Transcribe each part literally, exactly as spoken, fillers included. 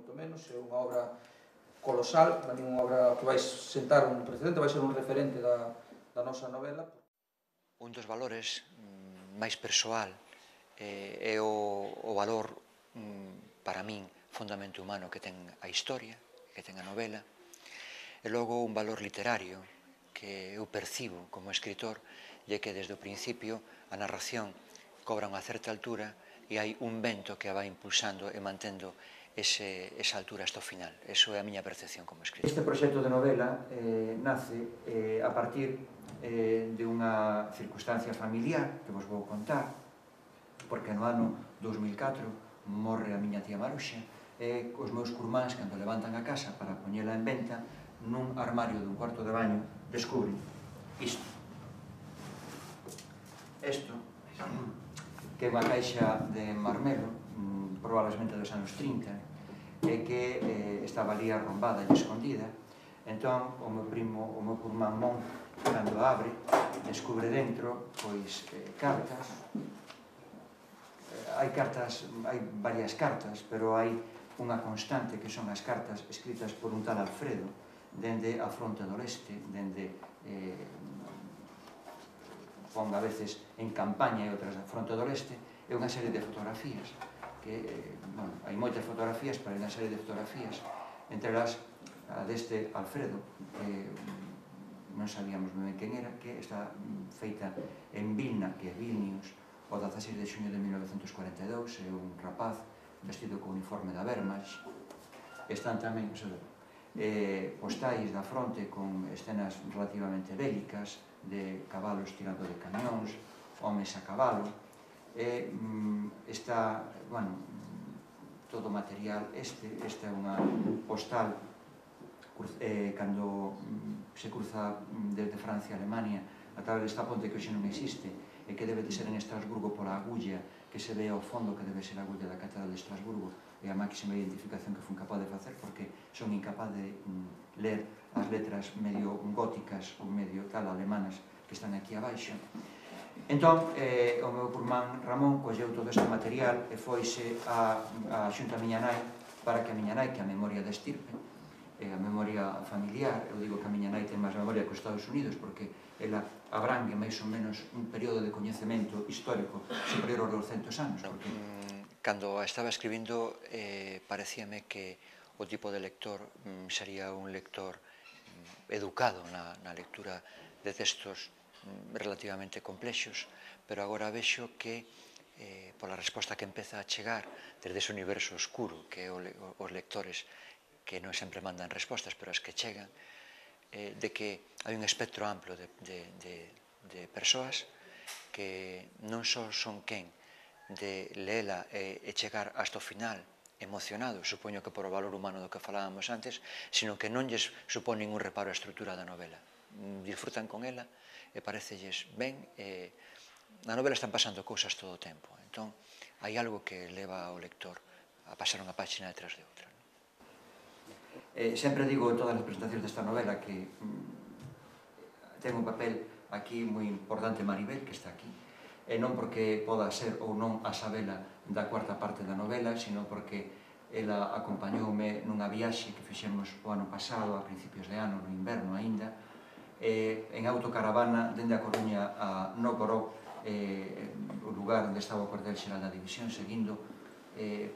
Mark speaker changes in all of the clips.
Speaker 1: moito menos, é unha obra colosal, é unha obra que vai sentar un precedente, vai ser un referente da, da nosa novela.
Speaker 2: Un dos valores mm, máis persoal eh, é o, o valor mm, para min fundamento humano que ten a historia, que ten a novela, e logo un valor literario que eu percibo como escritor e que desde o principio a narración cobra unha certa altura e hai un vento que a vai impulsando e mantendo ese, esa altura hasta o final. Eso é a miña percepción como escritor.
Speaker 3: Este proxecto de novela eh, nace eh, a partir eh, de unha circunstancia familiar que vos vou contar, porque no ano dous mil catro morre a miña tía Maruxa e os meus curmáns, cando levantan a casa para poñela en venta, nun armario dun cuarto de baño descubren isto. Isto, que é unha caixa de marmelo, probablemente dos anos trinta, e que eh, estaba ali arrombada e escondida. Entón, o meu primo, o meu curmán Mon, cando abre, descubre dentro, pois, eh, cartas. Eh, hai cartas, hai varias cartas, pero hai unha constante que son as cartas escritas por un tal Alfredo, dende a fronte do leste, dende eh, ponga a veces en campaña e outras a fronte do leste, é unha serie de fotografías que, eh, bueno, hai moitas fotografías, pero hai unha serie de fotografías, entre elas a deste Alfredo, que non sabíamos ben quen era, que está feita en Vilna, que é Vilnius, o dezaseis de xuño de mil novecentos cuarenta e dous, é un rapaz vestido co uniforme da Wehrmacht. Están tamén, o sea, eh, postais da fronte con escenas relativamente bélicas, de cabalos tirando de camións, homes a cabalo, e mm, está, bueno, todo o material este, esta é unha postal eh, cando mm, se cruza desde Francia a Alemania a través desta ponte que hoxe non existe e que debe de ser en Estrasburgo pola agulla que se ve ao fondo que debe ser a agulla da Catedral de Estrasburgo e a máxima identificación que fun capaz de facer porque son incapaz de mm, ler as letras medio góticas ou medio tal alemanas que están aquí abaixo. Entón, eh, o meu curmán Ramón colleu todo este material e foise a, a xunto a miña nai para que a miña nai, que a memoria da estirpe, eh, a memoria familiar, eu digo que a miña nai ten máis memoria que os Estados Unidos porque ela abrangue máis ou menos un período de coñecemento histórico superior aos douscentos anos. Porque...
Speaker 2: Cando estaba escribindo, eh, parecíame que o tipo de lector mm, sería un lector mm, educado na, na lectura de textos relativamente complexos, pero agora vexo que eh, pola resposta que empeza a chegar desde ese universo oscuro que é o, os lectores que non sempre mandan respostas, pero as que chegan, eh, de que hai un espectro amplo de, de, de, de persoas que non só son quen de leela e, e chegar hasta o final emocionado, supoño que por o valor humano do que falábamos antes, sino que non lles supón ningún reparo a estrutura da novela. Disfrutan con ela e parecelles ben, e na novela están pasando cousas todo o tempo, entón hai algo que leva ao lector a pasar unha página detrás de outra.
Speaker 3: Eh, sempre digo en todas as presentacións desta novela que mm, ten un papel aquí moi importante Maribel, que está aquí, e non porque poda ser ou non a Sabela da cuarta parte da novela, sino porque ela acompañoume nunha viaxe que fixemos o ano pasado, a principios de ano, no inverno aínda, eh, en autocaravana dende a Coruña a Nóvgorod, eh, o lugar onde estaba o cuartel xeral da división, seguindo eh,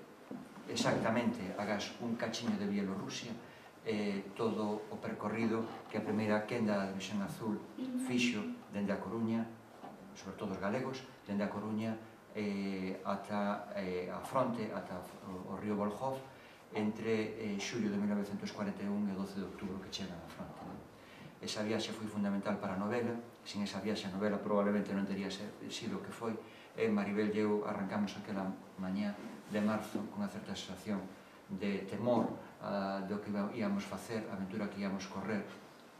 Speaker 3: exactamente agás un cachiño de Bielorrusia, eh, todo o percorrido que a primeira quenda da División Azul fixo dende a Coruña, sobre todo os galegos, dende a Coruña eh, ata eh, a fronte, ata o, o río Volkhov, entre eh, xullo de mil novecentos cuarenta e un e doce de outubro que chegan á fronte. Non? Esa viaxe foi fundamental para a novela, sin esa viaxe a novela probablemente non teria sido o que foi, e Maribel e eu arrancamos aquela mañá de marzo con unha certa sensación de temor uh, do que íamos facer, a aventura que íamos correr,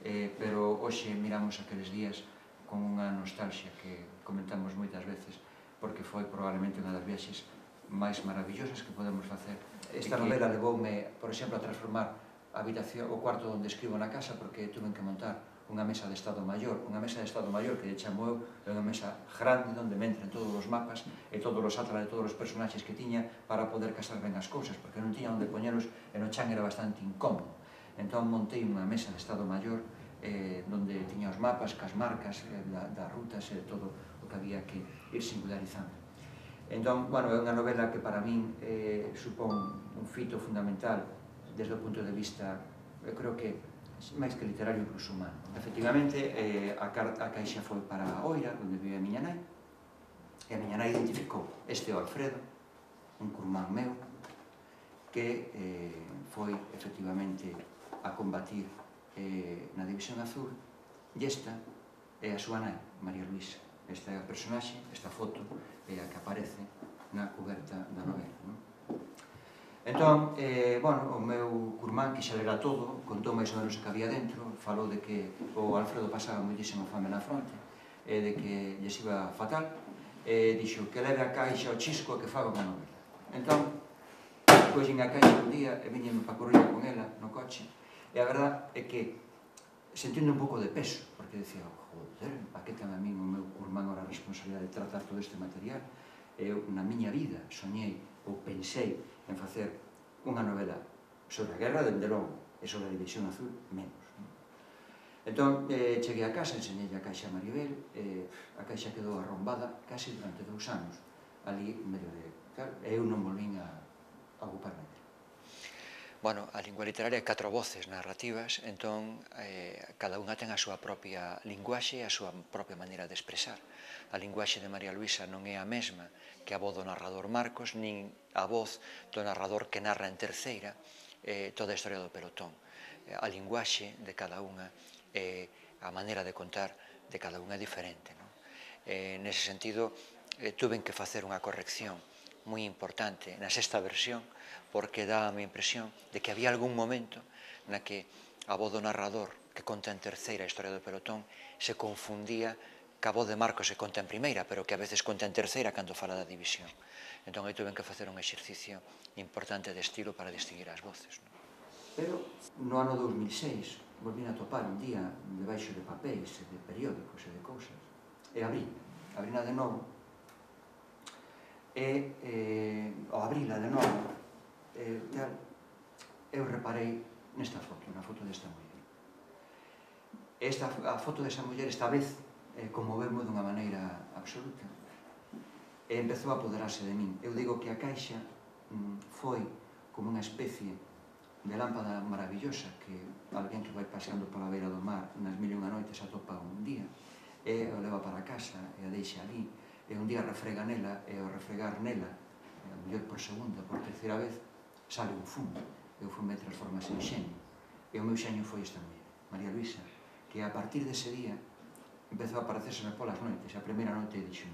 Speaker 3: eh, pero hoxe miramos aqueles días con unha nostalgia que comentamos moitas veces, porque foi probablemente unha das viaxes máis maravillosas que podemos facer. Esta novela levoume, por exemplo, a transformar a habitación, o cuarto onde escribo na casa, porque tuve que montar unha mesa de Estado Maior, unha mesa de Estado Maior que chamo eu, é unha mesa grande onde me entran todos os mapas e todos os atlas de todos os personaxes que tiña para poder casar ben as cousas, porque non tiña onde poñeros e no chan era bastante incómodo. Entón montei unha mesa de Estado Maior eh, onde tiña os mapas, cas marcas eh, da, das rutas e todo o que había que ir singularizando. Entón, bueno, é unha novela que para min eh, supón un fito fundamental desde o punto de vista, eu creo que máis que literario, incluso humano. Efectivamente, eh, a, a caixa foi para a Oira, onde vive a miña nai, e a miña nai identificou este o Alfredo, un curmán meu, que eh, foi, efectivamente, a combatir eh, na División Azul, e esta é a súa nai, María Luisa. Esta é a personaxe, esta foto, é a que aparece na coberta da novela, non? Entón, eh, bueno, o meu curmán, que xa lera todo, contou máis ou menos o que había dentro, falou de que o Alfredo pasaba moitísima fame na fronte, e de que lles iba fatal, e dixo que leve a caixa ao chisco e que faga unha novela. Entón, coixen a caixa un día e viñen pa Coruña con ela no coche, e a verdad é que sentindo un pouco de peso, porque decía, joder, pa que ten a min o meu curmán ahora a responsabilidade de tratar todo este material? Eu, na miña vida, soñei ou pensei en facer unha novela sobre a guerra, dende logo, e sobre a División Azul, menos. Entón, eh, cheguei a casa, enseñei a caixa a Maribel, e a caixa quedou arrombada case durante dous anos, ali medio de... Claro, e eu non volvín a, a ocuparme dela.
Speaker 2: Bueno, a lingua literaria é catro voces narrativas, entón eh, cada unha ten a súa propia linguaxe e a súa propia maneira de expresar. A linguaxe de María Luisa non é a mesma que a voz do narrador Marcos, nin a voz do narrador que narra en terceira eh, toda a historia do pelotón. A linguaxe de cada unha, eh, a maneira de contar de cada unha é diferente, non? Eh, nese sentido, eh, tuven que facer unha corrección moi importante na sexta versión, porque dá a mi impresión de que había algún momento na que a voz do narrador que conta en terceira a historia do pelotón se confundía que a voz de Marcos se conta en primeira, pero que a veces conta en terceira cando fala da división. Entón, aí tuven que facer un exercicio importante de estilo para distinguir as voces, non?
Speaker 3: Pero, no ano dous mil seis, volvín a topar un día debaixo de papéis, de periódicos e de cousas, e abrí, abrina de novo, e eh, ao abrila de novo, eh, tal, eu reparei nesta foto, na foto desta muller. Esta, a foto desa muller esta vez eh, conmoveu-me dunha maneira absoluta e empezou a apoderarse de min. Eu digo que a caixa mm, foi como unha especie de lámpada maravillosa que alguén que vai paseando pola beira do mar nas mil e unha noites atopa un día e o leva para casa e a deixa ali e un día refrega nela e ao refregar nela, a mellor por segunda, por terceira vez, sale un fumo e o fume transformase en xeño e o meu xeño foi esta muller, María Luisa, que a partir dese día empezou a aparecérseme polas noites. A primeira noite dixo,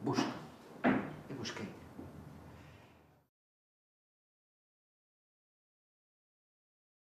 Speaker 3: busca, e busquei.